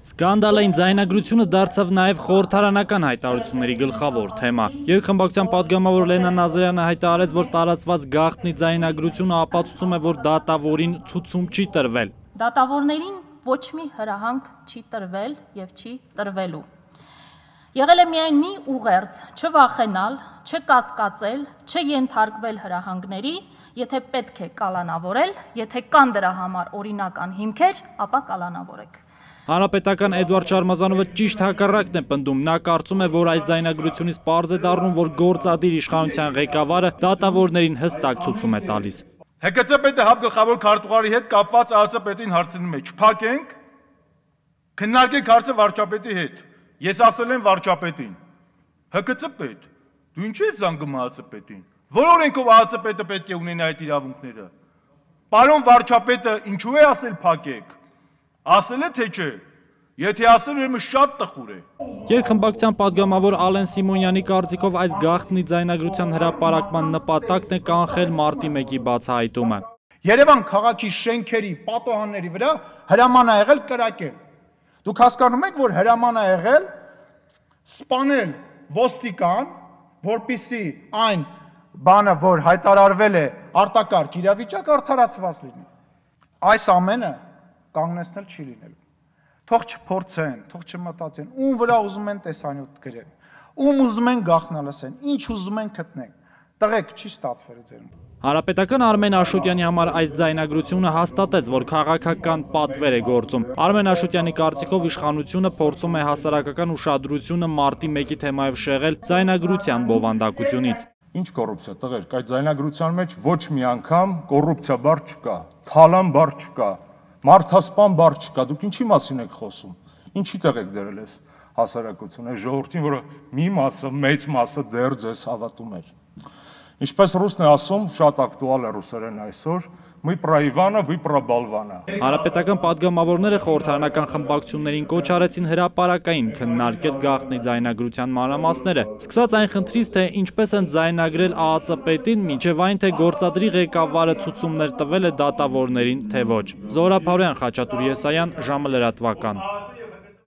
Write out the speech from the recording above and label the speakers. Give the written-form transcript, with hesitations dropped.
Speaker 1: Սկանդալային ձայնագրությունը դարձավ նաև խորհրդարանական հայտարարությունների գլխավոր թեմա։ Երկխմբակցության պատգամավոր Լենա Նազարյանը հայտարարեց, որ տարածված գաղտնի ձայնագրությունը ապացուցում է, որ դատավորին ցուցում չի տրվել։
Speaker 2: Դատավորներին ոչ մի հրահանգ չի տրվել եւ չի տրվելու։ Եղել է միայն մի ուղերձ՝ չվախենալ, չկասկածել, չենթարկվել հրահանգների, եթե պետք է կալանավորել, եթե կան դրա համար օրինական հիմքեր, ապա կալանավորեք։
Speaker 1: Հանրապետական Էդուարդ Շարմազանովը ճիշտ հակառակն է պնդում։ Նա կարծում է, որ այս ձայնագրությունից պարզ է դառնում, որ գործադիր իշխանության ղեկավարը դատավորներին հստակ ցուցում է տալիս։
Speaker 3: ՀԿՑ պետը հապգլխավոր քարտուղարի հետ կապված ԱԱԾ պետին հարցնում է, չփակենք, քննարկենք հարցը վարչապետի հետ։ Ես ասել եմ վարչապետին, ՀԿՑ պետ, դու ինչ ես զանգում ԱԱԾ պետին։ Որ օրենքով ԱԱԾ պետը պետք է ունենա այդ իրավունքները։ Պարոն վարչապետը ինչու է ասել փակեք։ Ասել է թե չէ։ Եթե ասել ուրեմն շատ տխուր է։
Speaker 1: Երկխմբակցության պատգամավոր Ալեն Սիմոնյանի կարծիքով այս գաղտնի ձայնագրության հրապարակման նպատակն է կանխել մարտի 1-ի բացահայտումը։
Speaker 4: Երևան քաղաքի շենքերի, պատոհանների վրա հրաման ա եղել կրակել։ Դուք հասկանում եք, որ հրաման ա եղել սպանել ոստիկան, որպեսզի այն բանը, որ հայտարարվել է արտակարգ իրավիճակ, արդարացված լինի։ Այս ամենը կանգնեցնել չի լինելու։ Թող չփորձեն, թող չմտածեն, ում վրա ուզում են տեսանյութ գրեն, ում ուզում են գաղտնալսեն, ինչ ուզում են գտնեն։ Տղեկ չի ստացվել ձեր։
Speaker 1: Հանրապետական Արմեն Աշոտյանի համար այս ձայնագրությունը հաստատեց, որ քաղաքական պատվեր է գործում։ Արմեն Աշոտյանի կարծիքով իշխանությունը փորձում է հասարակական ուշադրությունը մարտի 1-ի թեմայով շեղել ձայնագրության բովանդակությունից։
Speaker 5: Ինչ կոռուպցիա, տղերք, այդ ձայնագրության մեջ ոչ մի անգամ կոռուպցիա բառ չկա, թալան բառ չկա, մարդասպան բառ չկա, դուք ինչի մասին եք խոսում, ինչի տեղ եք դրել ես հասարակությունը, ժողովրդին, որը մի մասը, մեծ մասը դեռ ձեզ հավատում էր։ Ինչպես ռուսն է ասում, շատ ակտուալ է ռուսերեն այսօր, «Мы про Ивана, вы про болвана»։
Speaker 1: Հանրապետական պատգամավորները խորհրդարանական խմբակցություններին կոչ արեցին հրապարակային քննարկել գաղտնի ձայնագրության մանրամասները, սկսած այն խնդրից, թե ինչպես են ձայնագրել ԱԱԾ պետին, մինչև այն, թե գործադրի ղեկավարը ցուցումներ տվել է դատավորներին, թե ոչ։ Զոհրաբ Հարոյան, Խաչատուր Եսայան, ժամը լրատվական։